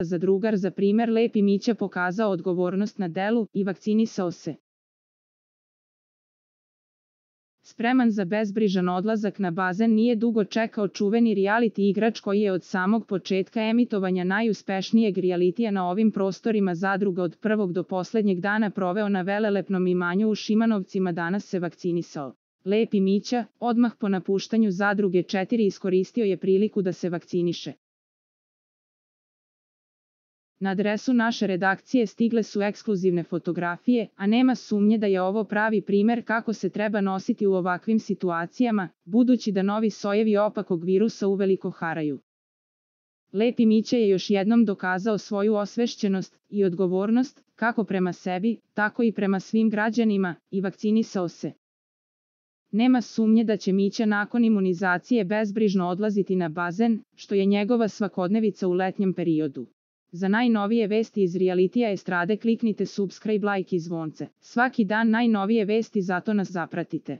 za drugar za primer Lepi Mića pokazao odgovornost na delu i vakcinisao se. Spreman za bezbrižan odlazak na bazen nije dugo čekao čuveni reality igrač koji je od samog početka emitovanja najuspešnijeg realitija na ovim prostorima Zadruga od prvog do poslednjeg dana proveo na velelepnom imanju u Šimanovcima. Danas se vakcinisao. Lepi Mića, odmah po napuštanju Zadruge 4, iskoristio je priliku da se vakciniše. Na adresu naše redakcije stigle su ekskluzivne fotografije, a nema sumnje da je ovo pravi primer kako se treba nositi u ovakvim situacijama, budući da novi sojevi opakog virusa uveliko haraju. Lepi Mića je još jednom dokazao svoju osvešćenost i odgovornost, kako prema sebi, tako i prema svim građanima, i vakcinisao se. Nema sumnje da će Mića nakon imunizacije bezbrižno odlaziti na bazen, što je njegova svakodnevica u letnjem periodu. Za najnovije vesti iz realitija estrade kliknite subscribe, like i zvonce. Svaki dan najnovije vesti, zato nas zapratite.